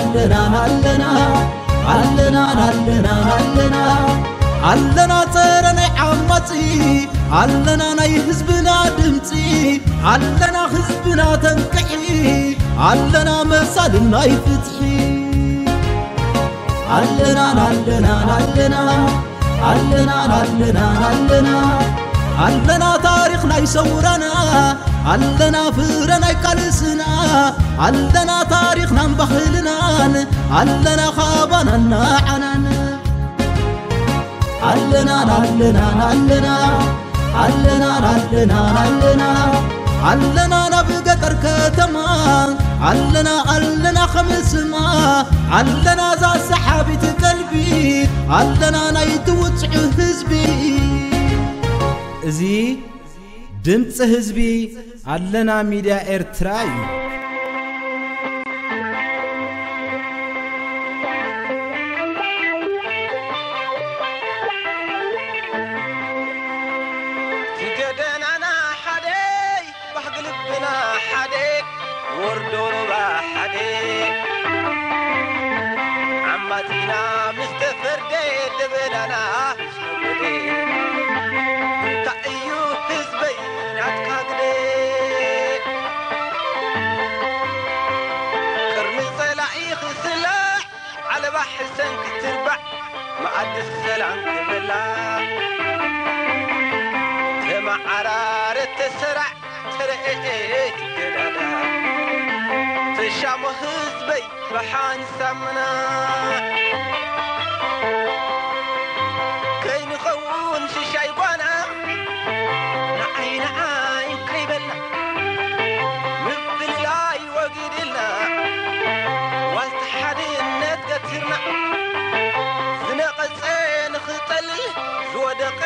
ኣለና ኣለና ኣለና ኣለና ኣለና ኣለና ጸረ ናይ ዓማጺ ኣለና ናይ ህዝብና ድምጺ ኣለና ህዝብና ተንቅሒ ኣለና መሳልን ናይ ፍትሒ ኣለና ኣለና ኣለና ኣለና ኣለና ኣለና ኣለና ታሪኽ ናይ ሰውራና ኣለና ፍረ ናይ ቃልስና ኣለና ታሪኽናን ባህልናን ኣለና ካባናን ንዓናን ኣለና ኣለና ኣለና ኣለና ኣለና ኣለና ኣለና ናብ ገጠር ከተማ ኣለና ኣለና ከምስማ ኣለና ዛ ሰሓቢት ቀልቢ ኣለና ናይ ትውፅዑ ህዝቢ እዚ ድምፂ ህዝቢ ኣለና ሚድያ ኤርትራ እዩ። ዝገደናና ሓደ ባህጊ ልብና ሓደ ወርዶ ሩባ ሓደ ዓማጺና ምስ ተፈርደ ደበናና ሰወደ እንታይ እዩ ህዝበይ ናትካ ግደ ቅርኒ ጸላኢ ክስላዕ ዓለባ ሕሰን ክትርባዕ መኣዲ ሰላም ክበላ ተመዓራረ ተሰራዕ ተረኤ ትገዳዳ ተሻሞ ህዝበይ ብሓንሳምና ከይንኸውን ሽሻይ ጓና ንዓይ ንዓይ ከይበልና ምፍልላይ ወጊድልና ዋልታ ሓድነት ገቲርና ዝነቐጸ ንኽንጠልል ዝወደቐ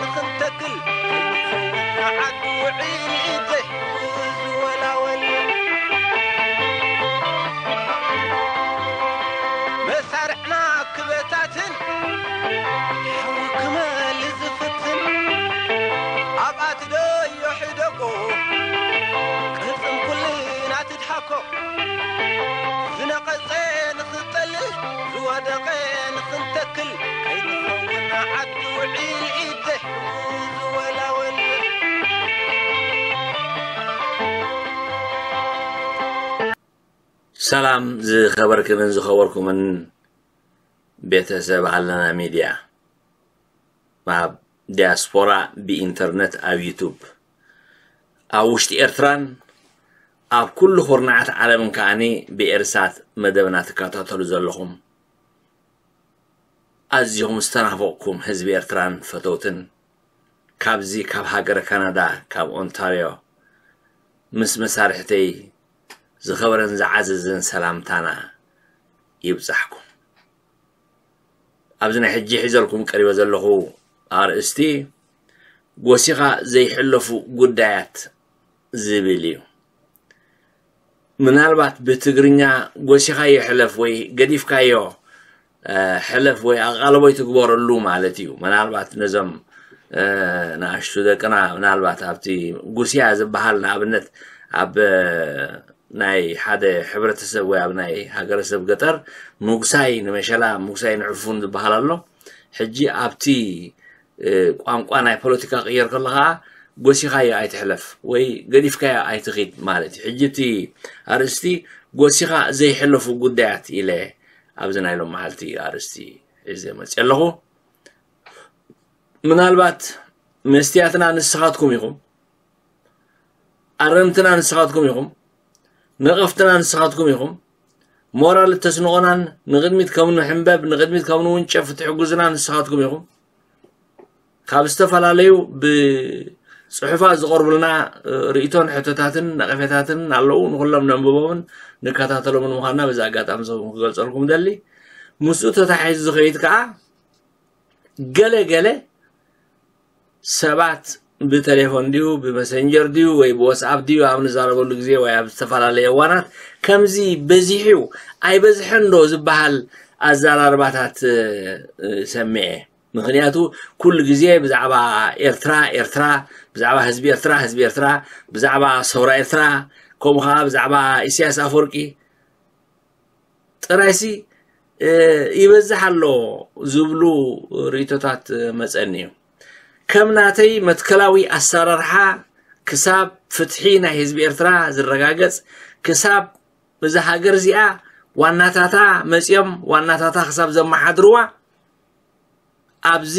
ንኽንተክል ከይንኸውን ዓዲ ውዒል ዘይሕጉዝ ዝወላወል መሳርዕና ክበታትን ሓዊ ክመል ዝፍትን ኣብኣ ትደዮ ሕደጎ ቅርጽን ኩልና ትድሃኮ ዝነቐጸ ንኽጠልል ዝወደቐ ንኽንተክል ከይንኸውን ዓዲ ውዒል ኢድ ዘይሕጉ ዝወላወል ሰላም ዝኸበርክንን ዝኸበርኩምን ቤተሰብ ኣለና ሚድያ ኣብ ዲያስፖራ ብኢንተርነት ኣብ ዩቱብ ኣብ ውሽጢ ኤርትራን ኣብ ኩሉ ኩርናዓት ዓለምን ከዓኒ ብኤርሳት መደብና ትከታተሉ ዘለኹም ኣዝኹም ዝተናፈቕኩም ህዝቢ ኤርትራን ፈተውትን ካብዚ ካብ ሃገረ ካናዳ ካብ ኦንታርዮ ምስ መሳርሕተይ ዝኸበረን ዝዓዘዘን ሰላምታና ይብጻሕኩም። ኣብዚ ናይ ሕጂ ሒዘልኩም ቀሪበ ዘለኹ ኣርእስቲ ጎሲኻ ዘይሕለፉ ጉዳያት ዝብል እዩ። ምናልባት ብትግርኛ ጎሲኻዮ ሕለፍ ወይ ገዲፍካዮ ሕለፍ ወይ ኣቓልቦ ይትግበረሉ ማለት እዩ። ምናልባት ነዞም ንኣሽቱ ደቅና ምናልባት ኣብቲ ጉስያ ዝበሃል ንኣብነት ኣብ ናይ ሓደ ሕብረተሰብ ወይ ኣብ ናይ ሃገረሰብ ገጠር ምጉሳይ ንመሸላ ምጉሳይ ንዕፉን ዝበሃል ኣሎ። ሕጂ ኣብቲ ቋንቋ ናይ ፖለቲካ ክቕየር ከሎ ከዓ ጎሲኻዮ ኣይትሕለፍ ወይ ገዲፍካዮ ኣይትኺድ ማለት እዩ። ሕጂ እቲ ኣርእስቲ ጎሲኻ ዘይሕለፉ ጉዳያት ኢለ ኣብዚ ናይ ሎም መዓልቲ ኣርእስቲ ሒዘ መፅእ ኣለኹ። ምናልባት መስትያትና ንስኻትኩም ኢኹም፣ ኣረምትና ንስኻትኩም ኢኹም፣ ነቐፍትና ንስኻትኩም ኢኹም፣ ሞራል እተስንቖናን ንቕድሚት ከም ንሕንበብ ንቕድሚት ከም ንውንጨፍ እትሕግዙና ንስኻትኩም ኢኹም። ካብ ዝተፈላለዩ ብፅሑፋት ዝቐርቡልና ርእይቶን ሕቶታትን ነቐፌታትን ኣለዉ። ንኹሎም ነንብቦምን ንከታተሎምን ምዃንና በዚ ኣጋጣሚ ክገልፀልኩም ደሊ። ምስኡ ተታሒዙ ዝኸይድ ከዓ ገለ ገለ ሰባት ብቴሌፎን ድዩ ብመሰንጀር ድዩ ወይ ብዋትስኣፕ ድዩ ኣብ ንዛረበሉ ግዜ ወይ ኣብ ዝተፈላለየ እዋናት ከምዚ በዚሑ ኣይበዝሐን ዶ ዝበሃል ኣዘራርባታት ሰሚዐ። ምኽንያቱ ኩሉ ግዜ ብዛዕባ ኤርትራ ኤርትራ፣ ብዛዕባ ህዝቢ ኤርትራ ህዝቢ ኤርትራ፣ ብዛዕባ ሰውራ ኤርትራ፣ ከምኡ ከዓ ብዛዕባ ኢሳያስ ኣፈወርቂ ጥራይሲ ይበዝሕ ኣሎ ዝብሉ ርእይቶታት መጸኒ እዩ። ከም ናተይ መትከላዊ ኣሰራርሓ ክሳብ ፍትሒ ናይ ህዝቢ ኤርትራ ዝረጋገጽ፣ ክሳብ እዛ ሃገር እዚኣ ዋናታታ መጺኦም ዋናታታ ክሳብ ዘመሓድርዋ፣ ኣብዚ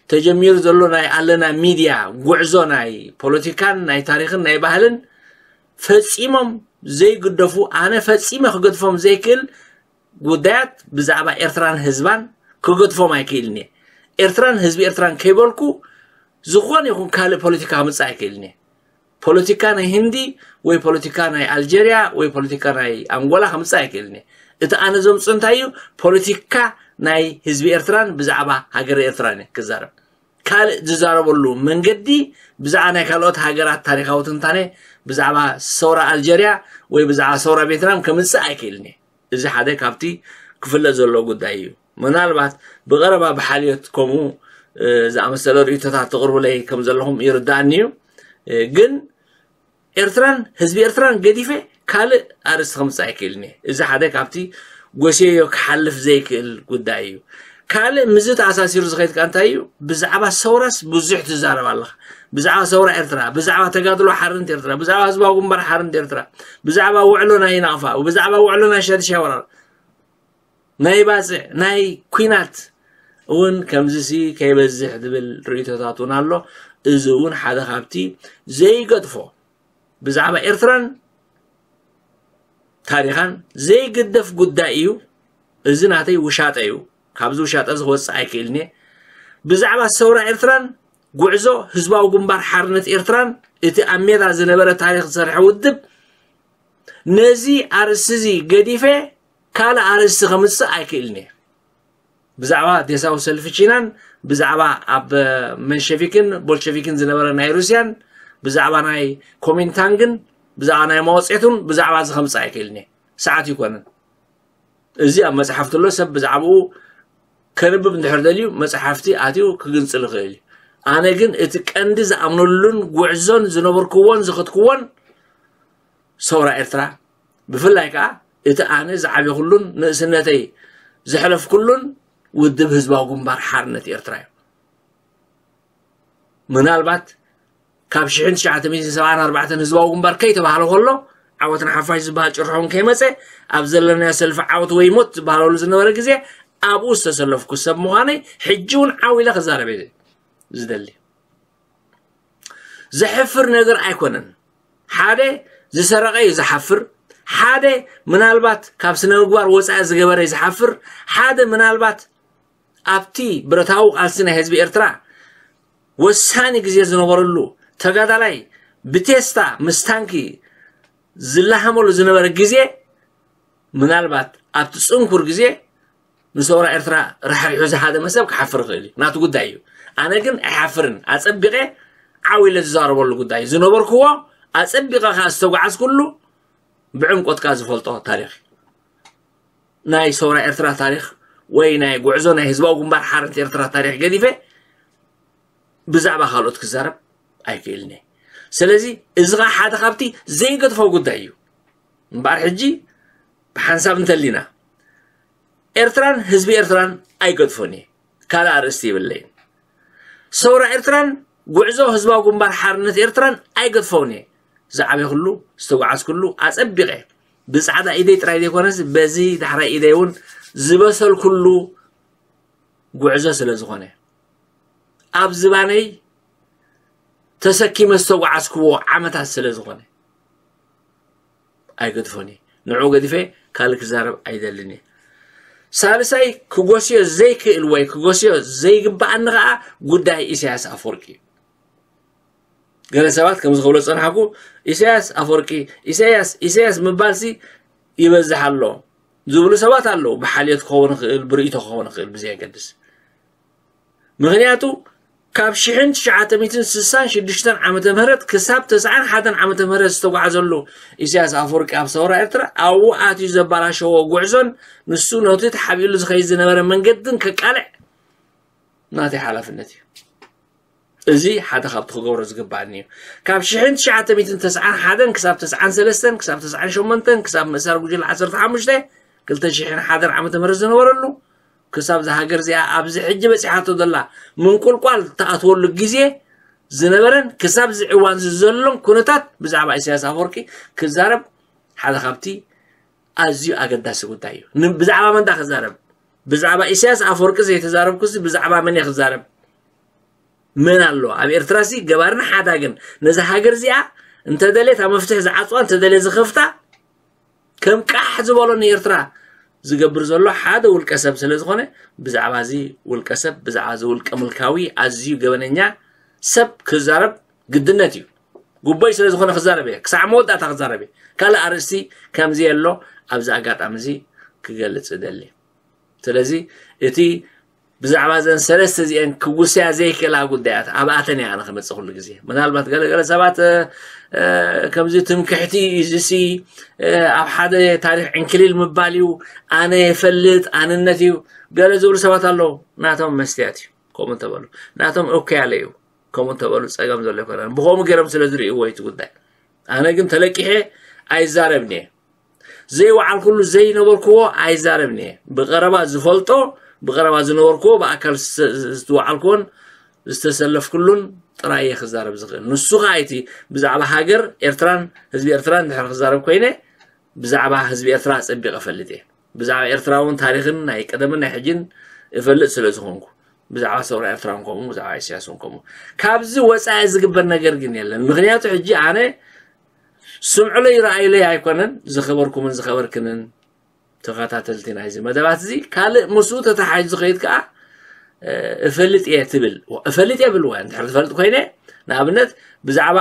ተጀሚሩ ዘሎ ናይ ኣለና ሚድያ ጉዕዞ ናይ ፖለቲካን ናይ ታሪኽን ናይ ባህልን ፈጺሞም ዘይግደፉ፣ ኣነ ፈጺመ ክገድፎም ዘይክእል ጉዳያት ብዛዕባ ኤርትራን ህዝባን ክገድፎም ኣይክእልን እየ። ኤርትራን ህዝቢ ኤርትራን ከይበልኩ ዝኾነ ይኹን ካልእ ፖለቲካ ክምጽእ ኣይክእልን እየ። ፖለቲካ ናይ ህንዲ ወይ ፖለቲካ ናይ ኣልጀርያ ወይ ፖለቲካ ናይ ኣንጎላ ክምጽእ ኣይክእልን እየ። እቲ ኣነ ዘምጽእ እንታይ እዩ? ፖለቲካ ናይ ህዝቢ ኤርትራን ብዛዕባ ሃገር ኤርትራን እየ ክዛረብ። ካልእ ዝዛረበሉ መንገዲ ብዛዕባ ናይ ካልኦት ሃገራት ታሪኻዊ ትንታነ፣ ብዛዕባ ሰውራ ኣልጀርያ ወይ ብዛዕባ ሰውራ ቬትናም ከምጽእ ኣይክእልን እየ። እዚ ሓደ ካብቲ ክፍለጥ ዘለዎ ጉዳይ እዩ። ምናልባት ብቐረባ ብሓልዮት ከምኡ ዝኣመሰለ ርእይቶታት ትቕርቡለይ ከም ዘለኹም ይርዳእኒ እዩ። ግን ኤርትራን ህዝቢ ኤርትራን ገዲፈ ካልእ ኣርእስቲ ከምጽእ ኣይክእልን እየ። እዚ ሓደ ካብቲ ጎስየዮ ክሓልፍ ዘይክእል ጉዳይ እዩ። ካልእ ምስዚ ተኣሳሲሩ ዝኸይድ ከኣ እንታይ እዩ? ብዛዕባ ሰውራስ ብዙሕ ትዛረብ ኣለኻ። ብዛዕባ ሰውራ ኤርትራ፣ ብዛዕባ ተጋድሎ ሓርነት ኤርትራ፣ ብዛዕባ ህዝባዊ ግንባር ሓርነት ኤርትራ፣ ብዛዕባ ውዕሎ ናይ ናቕፋ፣ ብዛዕባ ውዕሎ ናይ ሻድሻይ ወራር፣ ናይ ባጽዕ፣ ናይ ኲናት እውን ከምዚሲ ከይበዝሕ ዝብል ርእይቶታት እውን ኣሎ። እዚ እውን ሓደ ካብቲ ዘይገድፎ ብዛዕባ ኤርትራን ታሪኻን ዘይግደፍ ጉዳይ እዩ። እዚ ናተይ ውሻጠ እዩ። ካብዚ ውሻጠ እዚ ክወጽእ ኣይክእልን እየ። ብዛዕባ ሰውራ ኤርትራን ጉዕዞ ህዝባዊ ግንባር ሓርነት ኤርትራን እቲ ኣብ ሜዳ ዝነበረ ታሪኽ ዝሰርሐ ውድብ ነዚ ኣርእስቲ እዚ ገዲፈ ካልእ ኣርእስቲ ከምጽእ ኣይክእልን እየ። ብዛዕባ ዴሳዊ ሰልፊ ቺናን ብዛዕባ ኣብ መንሸቪክን ቦልሸቪክን ዝነበረ ናይ ሩስያን ብዛዕባ ናይ ኮሚንታንግን ብዛዕባ ናይ ማወጼቱን ብዛዕባ እዚ ከምጽእ ኣይክእልን እየ። ሰዓት ይኮነን። እዚ ኣብ መጽሓፍቲ ኣሎ። ሰብ ብዛዕባኡ ከንብብ እንድሕር ደልዩ መጽሓፍቲ ኣትዩ ክግንጽል ይኽእል እዩ። ኣነ ግን እቲ ቀንዲ ዝኣምነሉን ጉዕዞን ዝነበርክዎን ዝኸድክዎን ሰውራ ኤርትራ፣ ብፍላይ ከኣ እቲ ኣነ ዝዓበኹሉን ንእስነተይ ዘሕለፍኩሉን ውድብ ህዝባዊ ግንባር ሓርነት ኤርትራ እዩ። ምናልባት ካብ ሽሕን ትሽዓተ ሚእትን ሰብዓን ኣርባዕተን ህዝባዊ ግንባር ከይተባህለ ከሎ፣ ዓወት ንሓፋሽ ዝበሃል ጭርሖ እውን ከይመጸ፣ ኣብ ዘለናዮ ሰልፊ ዓወት ወይ ሞት ዝበሃለሉ ዝነበረ ግዜ ኣብኡ ዝተሰለፍኩ ሰብ ምዃነይ ሕጂ እውን ዓው ኢለ ክዛረብ እየ ዝደሊ። ዘሕፍር ነገር ኣይኮነን። ሓደ ዝሰረቐ እዩ ዝሓፍር፣ ሓደ ምናልባት ካብ ስነ ምግባር ወጻኢ ዝገበረ እዩ ዝሓፍር፣ ሓደ ምናልባት ኣብቲ ብረታዊ ቃልሲ ናይ ህዝቢ ኤርትራ ወሳኒ ግዜ ዝነበረሉ ተጋዳላይ ብቴስታ ምስ ታንኪ ዝለሃመሉ ዝነበረ ግዜ፣ ምናልባት ኣብቲ ጽንኩር ግዜ ንሰውራ ኤርትራ ራሕሪሑ ዝሃደመ ሰብ ክሓፍር ይኽእል እዩ፣ ናቱ ጉዳይ እዩ። ኣነ ግን ኣይሓፍርን፣ ኣጸቢቐ ዓው ኢለ ዝዛረበሉ ጉዳይ እዩ። ዝነበርክዎ ኣጸቢቐ ከኣ ዝተጓዓዝኩሉ ብዕምቆትካ ዝፈልጦ ታሪኽ እዩ። ናይ ሰውራ ኤርትራ ታሪኽ ወይ ናይ ጉዕዞ ናይ ህዝባዊ ግንባር ሓርነት ኤርትራ ታሪኽ ገዲፈ ብዛዕባ ካልኦት ክዛረብ ኣይክእልን እየ። ስለዚ እዚ ኸዓ ሓደ ካብቲ ዘይገድፎ ጉዳይ እዩ። እምበኣር ሕጂ ብሓንሳብ እንተሊና ኤርትራን ህዝቢ ኤርትራን ኣይገድፎን እየ። ካልእ ኣርእስቲ ይብለይን። ሰውራ ኤርትራን ጉዕዞ ህዝባዊ ግንባር ሓርነት ኤርትራን ኣይገድፎን እየ። ዝዓበኹሉ ዝተጓዓዝኩሉ ኣጸቢቐ ብጻዕዳ ኢደይ ጥራይ ዘይኮነስ በዚ ዳሕራይ ኢደይ እውን ዝበሰልኩሉ ጉዕዞ ስለ ዝኾነ ኣብ ዝባነይ ተሰኪመ ዝተጓዓዝክዎ ዓመታት ስለ ዝኾነ ኣይገድፎን እየ። ንዑ ገዲፈ ካልእ ክዛረብ ኣይደልን እየ። ሳልሳይ ክጎስዮ ዘይክእል ወይ ክጎስዮ ዘይግባኣኒ ኸዓ ጉዳይ ኢሳያስ ኣፈወርቂ እዩ። ገለ ሰባት ከምዚ ክብሎ ዝጸናሕኩ ኢሳያስ ኣፈወርቂ ኢሳያስ ኢሳያስ ምባልሲ ይበዝሕ ኣሎ ዝብሉ ሰባት ኣለዉ። ብሓልዮት ክኸውን ይኽእል፣ ብርእይቶ ክኸውን ይኽእል፣ ብዘየገድስ። ምኽንያቱ ካብ ሽሕን ትሽዓተ ሚእትን ስሳን ሽዱሽተን ዓመተ ምህረት ክሳብ ተስዓን ሓደን ዓመተ ምህረት ዝተጓዓዘሉ ኢሳያስ ኣፈወርቂ ኣብ ሰውራ ኤርትራ ኣብኡ ኣትዩ ዘባላሸዎ ጉዕዞን ንሱ ነቲ ተሓቢእሉ ዝኸይድ ዝነበረ መንገድን ከቃልዕ ናተይ ሓላፍነት እዩ። እዚ ሓደ ካብቲ ክገብሮ ዝግባኣኒ እዩ። ካብ ሽሕን ትሽዓተ ሚእትን ተስዓን ሓደን ክሳብ ተስዓን ሰለስተን ክሳብ ተስዓን ሸሞንተን ክሳብ ምእሳር ጉጅለ ዓሰርተ ሓሙሽተ ክልተ ሽሕን ሓደን ዓመተ ምህረት ዝነበረሉ ክሳብ እዛ ሃገር እዚኣ ኣብዚ ሕጂ በፂሓቶ ዘላ ምንቁልቋል ትኣትወሉ ግዜ ዝነበረን ክሳብ እዚ እዋን እዚ ዘሎን ኩነታት ብዛዕባ ኢሳያስ ኣፈወርቂ ክዛረብ ሓደ ካብቲ ኣዝዩ ኣገዳሲ ጉዳይ እዩ። ን- ብዛዕባ መን ዳ ክዛረብ? ብዛዕባ ኢሳያስ ኣፈወርቂ ዘይተዛረብኩሲ ብዛዕባ መን እየ ክዛረብ? መን ኣሎ ኣብ ኤርትራ ሲ ገባርን ሓዳግን ነዛ ሃገር እዚኣ እንተደልየ እታ መፍትሒ ዝዓፅዋ እንተደልየ ዝኸፍታ ከም ቃሕ ዝበሎ ንኤርትራ ዝገብር ዘሎ ሓደ ውልቀ ሰብ ስለ ዝኾነ ብዛዕባ እዚ ውልቀ ሰብ ብዛዕባ እዚ ውልቀ ምልካዊ ኣዝዩ ገበነኛ ሰብ ክዛረብ ግድነት እዩ። ጉቦይ ስለ ዝኾነ ክዛረብ እየ፣ ክሳዕ መወዳእታ ክዛረብ እየ። ካልእ ኣርእስቲ ከምዚ ኣሎ ኣብዚ ኣጋጣሚ እዚ ክገልጽ እደሊ። ስለዚ እቲ ብዛዕባ እዘን ሰለስተ እዚአን ክጉስያ ዘይክእላ ጉዳያት ኣብኣተን እየ ኣነ ክመጽእ ኩሉ ግዜ። ምናልባት ገለገለ ሰባት እ፣ እ፣ ከምዚ ትምክሕቲ እዩ፣ እዚ ሲ እ፣ ኣብ ሓደ ታሪኽ ዕንክሊል ምባል እዩ፣ ኣነ የፈልጥ ኣንነት እዩ ገለ ዝብሉ ሰባት ኣለዉ። ናቶም መስትያት እዩ። ከምኡ እንተበሉ ናቶም እኮ ያለ እዩ። ከምኡ እንተበሉ ጸገም ዘሎ ኣይኮነን። ብኸምኡ ገይሮም ስለ ዝርእይዎ እዩ እቲ ጉዳይ። ኣነ ግን ተለቂሐ ኣይዛረብን እየ። ዘይወዓልኩሉ ዘይነበርክዎ ኣይዛረብን እየ። ብቐረባ ዝፈልጦ ብቐረባ ዝነበርክዎ ብኣካል ዝተ- ዝተወዓልክዎን ዝተሰለፍኩሉን ጥራይ እየ ክዛረብ ዝኽእል። ንሱ ኸዓ እቲ ብዛዕባ ሃገር ኤርትራን ህዝቢ ኤርትራን ድሕሪ ክዛረብ ኮይነ ብዛዕባ ህዝቢ ኤርትራ ኣጸቢቐ እፈልጥ እየ። ብዛዕባ ኤርትራ እውን ታሪኽን ናይ ቀደምን ናይ ሕጅን እፈልጥ ስለ ዝኾንኩ ብዛዕባ ሰውራ ኤርትራ እውን ከምኡ ብዛዕባ ኢሳያስ እውን ከምኡ። ካብዚ ወጻኢ ዝግበር ነገር ግን የለን። ምክንያቱ ሕጂ ኣነ ስምዕለይ ረኣይለይ ኣይኮነን ዝኸበርኩምን ዝኸበርክንን ተኸታተልቲ ናይዚ መደባት እዚ ካልእ ምስኡ ተተሓሒዙ ዝኸይድ ከኣ እ፣ እፈልጥ እየ ትብል እፈልጥ እየ ብልዋ እንድሕር ትፈልጥ ኮይነ ንኣብነት ብዛዕባ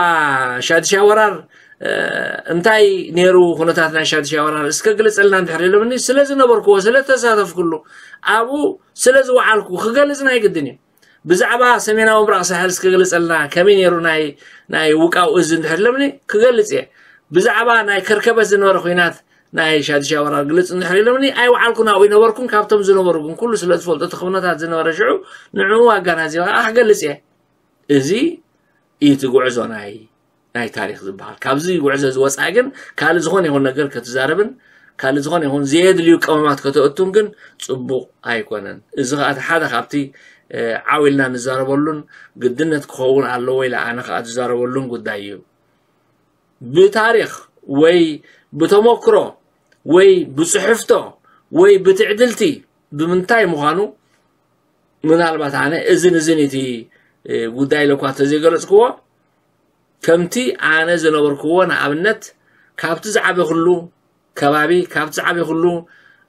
ሻድሻ ወራር እ፣ እንታይ ነይሩ ኩነታት ናይ ሻድሻ ወራር እስከ ግልፅልና እንድሕር ኢሎምኒ ስለ ዝነበርክዎ ስለ ተሳተፍኩሉ ኣብኡ ስለ ዝወዓልኩ ክገልፅ ናይ ግድን እዩ። ብዛዕባ ሰሜናዊ ምብራቕ ሳሕል እስከ ግልፀልና ከመይ ነይሩ ናይ ናይ ውቃው እዚ እንድሕር ኢሎምኒ ክገልፅ እየ። ብዛዕባ ናይ ከርከበት ዝነበረ ኩናት ናይ ሻድሻ ወራር ግልፅ እንድሕር ኢሎምኒ ኣይወዓልኩን ኣብኡ ይነበርኩን ካብቶም ዝነበሩ ግን ኩሉ ስለ ዝፈልጦ እቲ ኩነታት ዝነበረ ሽዑ ንዕኡ ኣጋናዚበ ከዓ ክገልፅ እየ። እዚ እዩ እቲ ጉዕዞ ናይ ናይ ታሪኽ ዝበሃል። ካብዚ ጉዕዞ ዝወፃእ ግን ካልእ ዝኾነ ይኹን ነገር ክትዛረብን ካልእ ዝኾነ ይኹን ዘየድልዩ ቀመማት ከተእቱን ግን ፅቡቕ ኣይኮነን። እዚ ከዓ እቲ ሓደ ካብቲ እ፣ ዓው ኢልና ንዛረበሉን ግድነት ክኸውን ኣለዎ ኢለ ኣነ ከዓ ዝዛረበሉን ጉዳይ እዩ። ብታሪኽ ወይ ብተመክሮ ወይ ብፅሕፍቶ ወይ ብትዕድልቲ ብምንታይ ምዃኑ ምናልባት ኣነ እዝን እዝን እቲ እ፣ ጉዳይ ኢለ እኳ ተዘይገለፅክዎ ከምቲ ኣነ ዝነበርክዎ ንኣብነት ካብቲ ዝዓበኹሉ ከባቢ ካብቲ ዝዓበኹሉ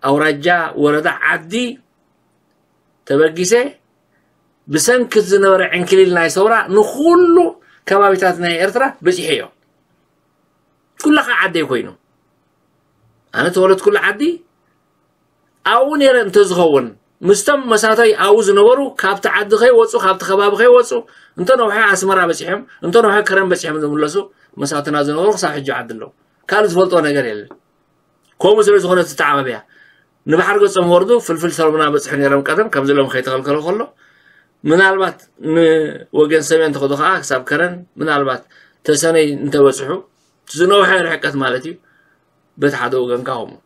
ኣውራጃ ወረዳ ዓዲ ተበጊሰ ብሰንኪ ዝነበረ ዕንክሊል ናይ ሰውራ ንኹሉ ከባቢታት ናይ ኤርትራ በፂሐ እዮ። ኩላ ከዓ ዓደይ ኮይኑ ኣነ ተወለድኩሉ ዓዲ ኣብኡ ነይረ እንተዝኸውን ምስቶም መሳታይ ኣብኡ ዝነበሩ ካብቲ ዓዲ ከይወፁ ካብቲ ከባቢ ከይወፁ እንተነውሐ ኣስመራ በፂሖም እንተነውሐ ከረን በፂሖም ዝምለሱ መሳትና ዝነበሩ ክሳብ ሕጂ ዓዲ ኣለዉ። ካልእ ዝፈልጦ ነገር የለን። ከምኡ ስለ ዝኾነ ትተዓባብያ ንባሕሪ ገጾም ወርዱ ፍልፍል ሰሎምና በፅሑ ነይሮም ቀደም ከምዚ ሎም ከይተኸልከሎ ከሎ ምናልባት ንወገን ሰሜን ተኸዶ ከዓ ክሳብ ከረን ምናልባት ተሰነይ እንተበፅሑ ዝነውሐ ርሕቀት ማለት እዩ። በቲ ሓደ ወገንካ ከምኡ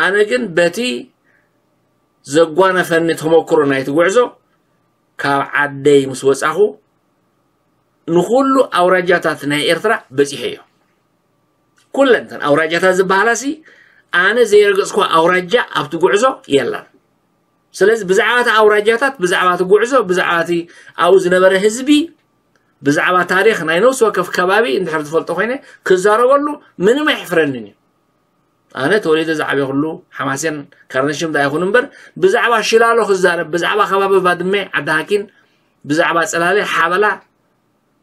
ኣነ ግን በቲ ዘጓነፈኒ ተመክሮ ናይቲ ጉዕዞ ካብ ዓደይ ምስ ወፃኹ ንኩሉ ኣውራጃታት ናይ ኤርትራ በፂሐ እዮ። ኩለን እተን ኣውራጃታት ዝበሃላ ሲ ኣነ ዘይረገፅኳ ኣውራጃ ኣብቲ ጉዕዞ የላን። ስለዚ ብዛዕባ እቲ ኣውራጃታት ብዛዕባ እቲ ጉዕዞ ብዛዕባ እቲ ኣብኡ ዝነበረ ህዝቢ ብዛዕባ ታሪኽ ናይ ነፍሲ ወከፍ ከባቢ እንድሕር ዝፈልጦ ኮይነ ክዛረበሉ ምንም ኣይሕፍረንን እዩ። ኣነ ተወሊደ ዝዓበኹሉ ሓማሴን ካርነሽም ዳ ይኹን እምበር ብዛዕባ ሽላሎ ክዛረብ ብዛዕባ ከባቢ ባድመ ዓዲ ሃኪን ብዛዕባ ፅላለ ሓበላ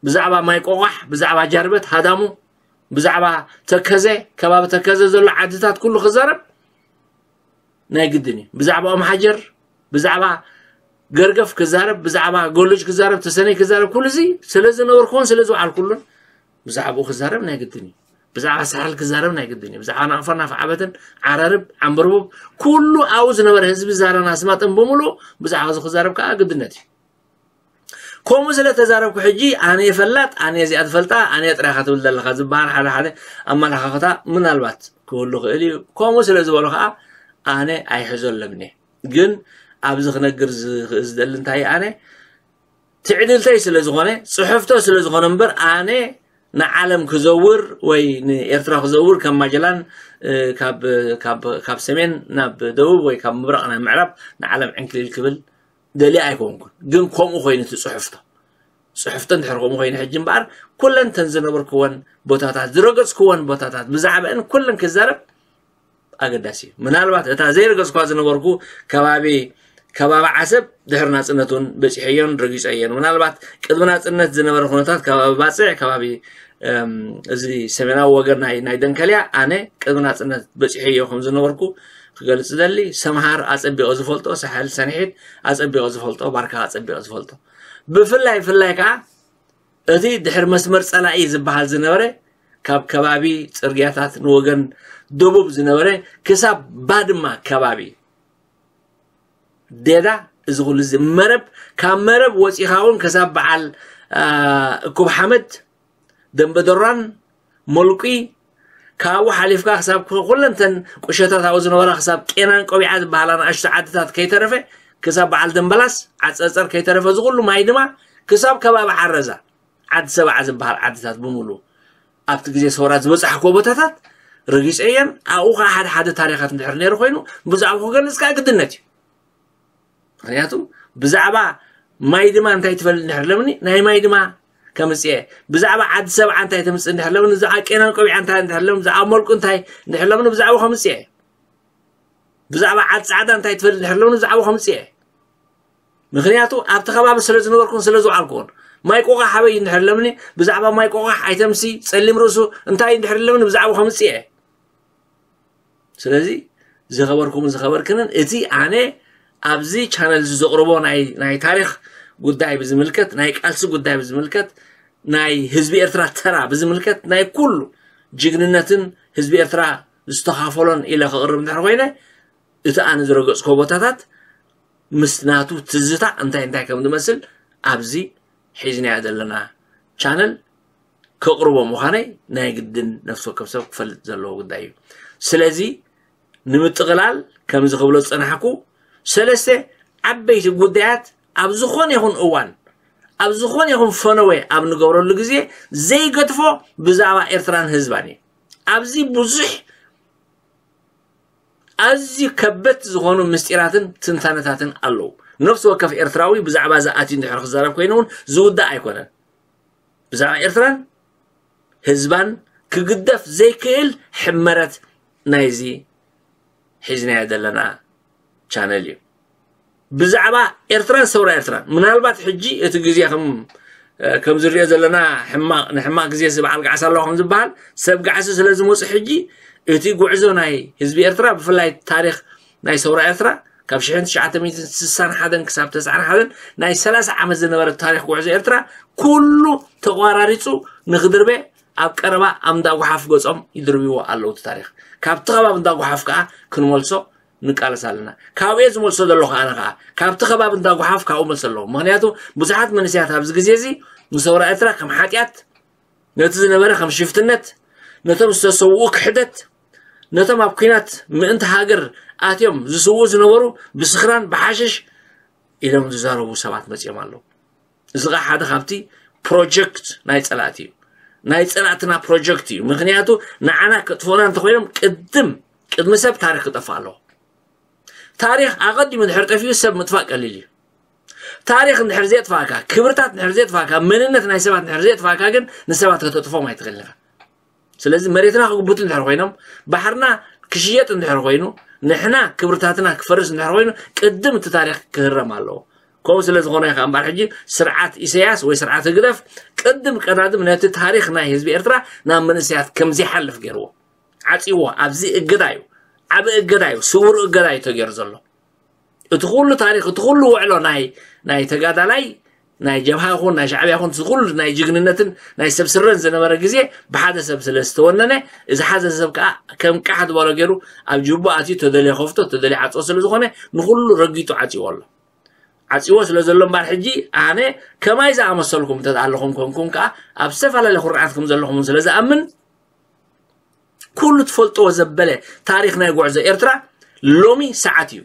ብዛዕባ ማይ ቆቋሕ ብዛዕባ ጃርበት ሃዳሙ ብዛዕባ ተከዘ ከባቢ ተከዘ ዘሎ ዓድታት ኩሉ ክዛረብ ናይ ግድን እዩ። ብዛዕባ ኦም ሓጀር ብዛዕባ ገርገፍ ክዛረብ ብዛዕባ ጎሎጅ ክዛረብ ተሰነይ ክዛረብ ኩሉ እዚ ስለ ዝነበርኩዎን ስለ ዝወዓልኩሉን ብዛዕባኡ ክዛረብ ናይ ግድን እዩ። ብዛዕባ ሳሕል ክዛረብ ናይ ግድን እዩ። ብዛዕባ ናቕፋ ናፍ ዓበትን ዓራርብ ዓንበርቡብ ኩሉ ኣብኡ ዝነበረ ህዝቢ ዛረን ኣስማጥን ብምሉእ ብዛዕባ እዚ ክዛረብ ከዓ ግድነት እዩ። ከምኡ ስለ ተዛረብኩ ሕጂ ኣነ ፈላጥ ኣነ እዚኣ ትፈልጣ ኣነ ጥራኻ ትብል ዘለኻ ዝበሃል ሓደ ሓደ ኣመለኻኽታ ምናልባት ክህሉ ክእል እዩ። ከምኡ ስለ ዝበሉ ከዓ ኣነ ኣይሕዘለምን እየ። ግን ኣብዚ ክነግር ዝኽእል ዝደሊ እንታይ ኣነ ትዕድልተይ ስለ ዝኾነ፣ ጽሕፍቶ ስለ ዝኾነ እምበር ኣነ ንዓለም ክዘውር ወይ ንኤርትራ ክዘውር ከም ማጀላን ካብ ሰሜን ናብ ደቡብ ወይ ካብ ምብራቕ ናብ ምዕራብ ንዓለም ዕንክሊል ክብል ደልየ ኣይኮንኩን። ግን ከምኡ ኮይኑ እቲ ጽሕፍቶ ጽሕፍቶ እንድሕር ከምኡ ኮይኑ ሕጂ እምበኣር ኩለን ተን ዝነበርክወን ቦታታት ዝረገጽክወን ቦታታት ብዛዕባአን ኩለን ክዛረብ ኣገዳሲ እዩ። ምናልባት እታ ዘይረገጽኳ ዝነበርኩ ከባቢ ከባቢ ዓሰብ ድሕሪ ናጽነት እውን በጺሐዮን ረጊጸዮን። ምናልባት ቅድሚ ናጽነት ዝነበረ ኩነታት ከባቢ ባጽዕ ከባቢ እዚ ሰሜናዊ ወገን ናይ ናይ ደንከልያ ኣነ ቅድሚ ናጽነት በጺሐዮ ከም ዝነበርኩ ክገልጽ ደሊ። ሰምሃር ኣጸቢቐ ዝፈልጦ፣ ሳሕል ሰንሒት ኣጸቢቐ ዝፈልጦ፣ ባርካ ኣጸቢቐ ዝፈልጦ። ብፍላይ ፍላይ ከዓ እቲ ድሕሪ መስመር ጸላኢ ዝበሃል ዝነበረ ካብ ከባቢ ጽርግያታት ንወገን ደቡብ ዝነበረ ክሳብ ባድማ ከባቢ ዴዳ እዚ ኩሉ እዚ መረብ ካብ መረብ ወፂኻ እውን ክሳብ በዓል እኩብ ሓመድ ደንበደሯን ሞልቂ ካብኡ ሓሊፍካ ክሳብ ኩለንተን ቁሸታት ኣብኡ ዝነበራ ክሳብ ቄናን ቆቢዓ ዝበሃላ ንኣሽቱ ዓድታት ከይተረፈ ክሳብ በዓል ደንበላስ ዓፀፀር ከይተረፈ እዚ ኩሉ ማይ ድማ ክሳብ ከባቢ ዓረዛ ዓዲ ሰብዓ ዝበሃል ዓድታት ብምሉ ኣብቲ ግዜ ሰውራ ዝበፃሕኮ ቦታታት ረጊፀ እየን። ኣብኡ ከዓ ሓደ ሓደ ታሪኻት እንድሕር ነይሩ ኮይኑ ብዛዕባ ክገልፅ ከዓ ግድነት እዩ። ምክንያቱ ብዛዕባ ማይ ድማ እንታይ ትፈልጥ እንድሕር ለምኒ ናይ ማይ ድማ ከምፅእ እየ። ብዛዕባ ዓዲ ሰብዓ እንታይ ተምፅእ እንድሕር ለምኒ ብዛዕባ ቄናን ቆቢዓ እንታይ እንድሕር ለምኒ ብዛዕባ መልቁ እንታይ እንድሕር ለምኒ ብዛዕባ ከምፅእ እየ። ብዛዕባ ዓዲ ፃዕዳ እንታይ ትፈልጥ እንድሕር ለምኒ ብዛዕባ ከምፅእ እየ። ምክንያቱ ኣብቲ ከባቢ ስለ ዝነበርኩን ስለ ዝውዓልኩን ማይ ቆቃሕ ሓበይ እንድሕር ለምኒ ብዛዕባ ማይ ቆቃሕ ኣይተምሲ ፀሊም ርእሱ እንታይ እንድሕር ለምኒ ብዛዕባ ከምፅእ እየ። ስለዚ ዝኸበርኩምን ዝኸበርክንን እቲ ኣነ ኣብዚ ቻነል እዚ ዘቕርቦ ናይ ናይ ታሪኽ ጉዳይ ብዝምልከት ናይ ቃልሲ ጉዳይ ብዝምልከት ናይ ህዝቢ ኤርትራ ተራ ብዝምልከት ናይ ኩሉ ጅግንነትን ህዝቢ ኤርትራ ዝተኻፈሎን ኢለ ከቕርብ እንድሕር ኮይነ እቲ ኣነ ዝረገጽኮ ቦታታት ምስ ናቱ ትዝታ እንታይ እንታይ ከም ዝመስል ኣብዚ ሒዝናዮ ዘለና ቻነል ከቕርቦ ምዃነይ ናይ ግድን ነፍሲ ወከፍ ሰብ ክፈልጥ ዘለዎ ጉዳይ እዩ። ስለዚ ንምጥቕላል ከምዚ ክብሎ ዝጸናሕኩ ሰለስተ ዓበይቲ ጉዳያት ኣብ ዝኾነ ይኹን እዋን ኣብ ዝኾነ ይኹን ፈነወ ኣብ ንገብረሉ ግዜ ዘይገድፎ ብዛዕባ ኤርትራን ህዝባን እዩ። ኣብዚ ብዙሕ ኣዝዩ ከበድቲ ዝኾኑ ምስጢራትን ትንታነታትን ኣለዉ። ነፍሲ ወከፍ ኤርትራዊ ብዛዕባ እዚ ኣትዩ እንድሕር ክዛረብ ኮይኑ እውን ዝውዳእ ኣይኮነን። ብዛዕባ ኤርትራን ህዝባን ክግደፍ ዘይክእል ሕመረት ናይዚ ሒዝናዮ ዘለና ቻነል እዩ። ብዛዕባ ኤርትራን ሰውራ ኤርትራን ምናልባት ሕጂ እቲ ግዜ ከም ከም ዝሪኦ ዘለና ሕማቕ ንሕማቕ ግዜ በዓል ጋዕሳ ኣለዋ ከም ዝበሃል ሰብ ጋዕሲ ስለ ዝመፁ ሕጂ እቲ ጉዕዞ ናይ ህዝቢ ኤርትራ ብፍላይ ታሪኽ ናይ ሰውራ ኤርትራ ካብ ሽሕን ትሽዓተ ሚእትን ስሳን ሓደን ክሳብ ተስዓን ሓደን ናይ ሰላሳ ዓመት ዝነበረ ታሪኽ ጉዕዞ ኤርትራ ኩሉ ተቋራሪፁ ንክድርበ ኣብ ቀረባ ኣብ እንዳ ጓሓፍ ገፆም ይድርብዎ ኣለዉ እቲ ታሪኽ። ካብቲ ከባቢ እንዳ ጓሓፍ ከዓ ክንመልሶ ንቃለስ ኣለና። ካብኡ እየ ዝመልሶ ዘለኹ ኣነ ከዓ ካብቲ ከባቢ እንዳ ጓሓፍ ካብኡ መልሶ ኣለዎ። ምክንያቱ ብዙሓት መንእሰያት ኣብዚ ግዜ እዚ ንሰውራ ኤርትራ ከም ሓጢኣት ነቲ ዝነበረ ከም ሽፍትነት ነቶም ዝተሰውኡ ክሕደት ነቶም ኣብ ኲናት ምእንቲ ሃገር ኣትዮም ዝስውኡ ዝነበሩ ብስኽራን ብሓሽሽ ኢሎም ዝዛረቡ ሰባት መፂኦም ኣለዉ። እዚ ከዓ ሓደ ካብቲ ፕሮጀክት ናይ ፀላእቲ እዩ። ናይ ፀላእትና ፕሮጀክት እዩ። ምክንያቱ ንዓና ከጥፍኡና እንተኮይኖም ቅድም ቅድሚ ሰብ ታሪክ ክጠፍእ ኣለዎ። ታሪክ ኣቀዲሙ እንድሕር ጠፊኡ ሰብ ምጥፋእ ቀሊል እዩ። ታሪክ እንድሕር ዘየጥፋእካ፣ ክብርታት እንድሕር ዘየጥፋእካ፣ መንነት ናይ ሰባት እንድሕር ዘየጥፋእካ ግን ንሰባት ከተጥፎም ኣይትኽእልን ኢኻ። ስለዚ መሬትና ክግብቱ እንድሕር ኮይኖም፣ ባሕርና ክሽየጥ እንድሕር ኮይኑ፣ ንሕና ክብርታትና ክፈርስ እንድሕር ኮይኑ ቅድም እቲ ታሪክ ክህረም ኣለዎ። ከምኡ ስለ ዝኾነ ኢኻ እምበኣር ሕጂ ስርዓት ኢሰያስ ወይ ስርዓት ህግደፍ ቅድም ቀዳድም ነቲ ታሪክ ናይ ህዝቢ ኤርትራ ናብ መንእሰያት ከምዘይሓልፍ ገይርዎ ዓፅይዎ። ኣብዚ እገዳ እዩ፣ ዓቢ እገዳ እዩ፣ ስውር እገዳ እዩ ተገይሩ ዘሎ። እቲ ኩሉ ታሪክ እቲ ኩሉ ውዕሎ ናይ ናይ ተጋዳላይ ናይ ጀብሃ ይኹን ናይ ሻዕብያ ይኹን እቲ ኩሉ ናይ ጅግንነትን ናይ ሰብ ስረን ዝነበረ ግዜ ብሓደ ሰብ ስለ ዝተወነነ እዚ ሓዘ ሰብ ከዓ ከም ቃሕ ዝበሎ ገይሩ ኣብ ጅቡ ኣትዩ ተደልየ ከፍቶ ተደልየ ዓፅዎ ስለ ዝኾነ ንኩሉ ረጊጡ ዓፅዎ ኣሎ። ዓፅዎ ስለ ዘሎ እምበኣር ሕጂ ኣነ ከማይ ዝኣመሰልኩም እንተ ኣለኹም ኮንኩም ከዓ ኣብ ዝተፈላለየ ኩርዓት ከም ዘለኹም ስለ ዝኣምን ኩሉ ትፈልጥዎ ዘበለ ታሪኽ ናይ ጉዕዞ ኤርትራ ሎሚ ሰዓት እዩ።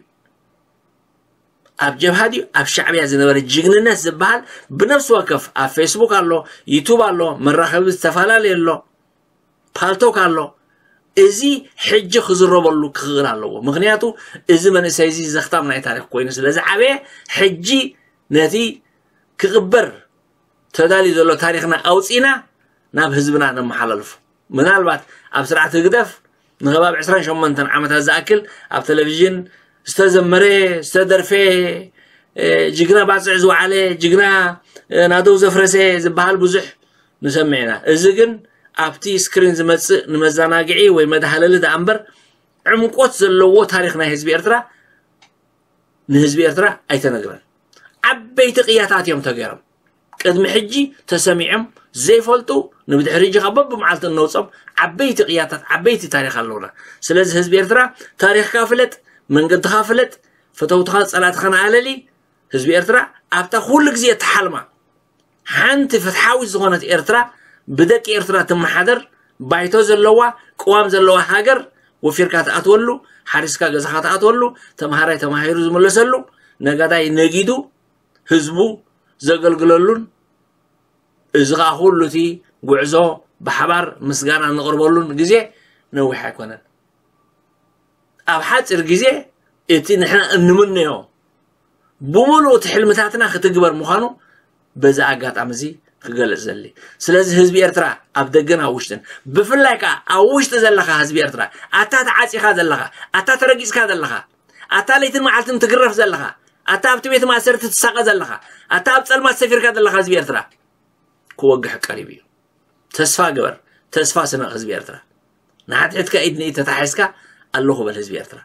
ኣብ ጀብሃ ድዩ ኣብ ሻዕብያ ዝነበረ ጅግንነት ዝበሃል ብነፍሲ ወከፍ ኣብ ፌስቡክ ኣሎ፣ ዩቱብ ኣሎ፣ መራኸቢ ዝተፈላለዩ ኣሎ፣ ፓልቶክ ኣሎ። እዚ ሕጂ ክዝረበሉ ክኽእል ኣለዎ። ምክንያቱ እዚ መንእሰይ እዚ ዘኽታም ናይ ታሪኽ ኮይኑ ስለ ዝዓበየ፣ ሕጂ ነቲ ክቕበር ተዳልዩ ዘሎ ታሪኽና ኣውፂና ናብ ህዝብና ነመሓላልፎ። ምናልባት ኣብ ስርዓት ህግደፍ ንኸባብ ዕስራን ሸሞንተን ዓመታት ዝኣክል ኣብ ቴሌቪዥን ዝተዘመረ፣ ዝተደርፈ፣ እ፣ ጅግና ባፅዕ ዝወዓለ፣ ጅግና፣ እ፣ ናደው ዘፍረሰ ዝበሃል ብዙሕ ንሰምዕ ኢና። እዚ ግን ኣብቲ ስክሪን ዝመፅእ ንመዘናግዒ ወይ መድሃለሊ ደኣ እምበር ዕምቆት ዘለዎ ታሪኽ ናይ ህዝቢ ኤርትራ ንህዝቢ ኤርትራ ኣይተነግረን። ዓበይቲ ቅያታት እዮም ተገይሮም። ቅድሚ ሕጂ ተሰሚዖም ዘይፈልጡ፣ ንብድሕሪ ሕጂ ካብ በብመዓልቲ እነውጾም ዓበይቲ ቅያታት፣ ዓበይቲ ታሪኽ ኣለውና። ስለዚ ህዝቢ ኤርትራ ታሪኽካ ፍለጥ፣ መንገድኻ ፍለጥ፣ ፈተውትኻ ጸላእትኻን ኣለሊ። ህዝቢ ኤርትራ ኣብታ ኩሉ ግዜ እትሓልማ ሓንቲ ፍትሓዊት ዝኾነት ኤርትራ፣ ብደቂ ኤርትራ ትመሓደር፣ ባይቶ ዘለዋ፣ ቅዋም ዘለዋ ሃገር ወፊርካ ትኣትወሉ፣ ሓሪስካ ገዛኻ ትኣትወሉ፣ ተምሃራይ ተማሂሩ ዝምለሰሉ፣ ነጋዳይ ነጊዱ ህዝቡ ዘገልግለሉን፣ እዚ ኸኣ ኩሉ እቲ ጉዕዞ ብሓባር ምስጋና እንቕርበሉን ግዜ ነዊሕ ኣይኮነን። ኣብ ሓጺር ግዜ እቲ ንሕና እንምነዮ ብምሉእ እቲ ሕልምታትና ክትግበር ምዃኑ በዚ ኣጋጣሚ እዚ ክገልጽ ዘሊ። ስለዚ ህዝቢ ኤርትራ ኣብ ደገን ኣብ ውሽጥን፣ ብፍላይ ከኣ ኣብ ውሽጢ ዘለኻ ህዝቢ ኤርትራ፣ ኣታ ተዓጺኻ ዘለኻ፣ ኣታ ተረጊጽካ ዘለኻ፣ ኣታ ለይትን መዓልትን ትግረፍ ዘለኻ፣ ኣታ ኣብቲ ቤት ማእሰርቲ ትሳቐ ዘለኻ፣ ኣታ ኣብ ጸልማት ሰፊርካ ዘለኻ ህዝቢ ኤርትራ፣ ክወግሕ ቀሪቡ እዩ። ተስፋ ግበር፣ ተስፋ ስነቕ ህዝቢ ኤርትራ። ንሓድሕድካ ኢድ ንኢድ ተታሒዝካ ኣለኹ በል ህዝቢ ኤርትራ።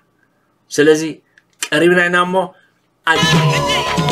ስለዚ ቀሪብና ኢና እሞ ኣጅ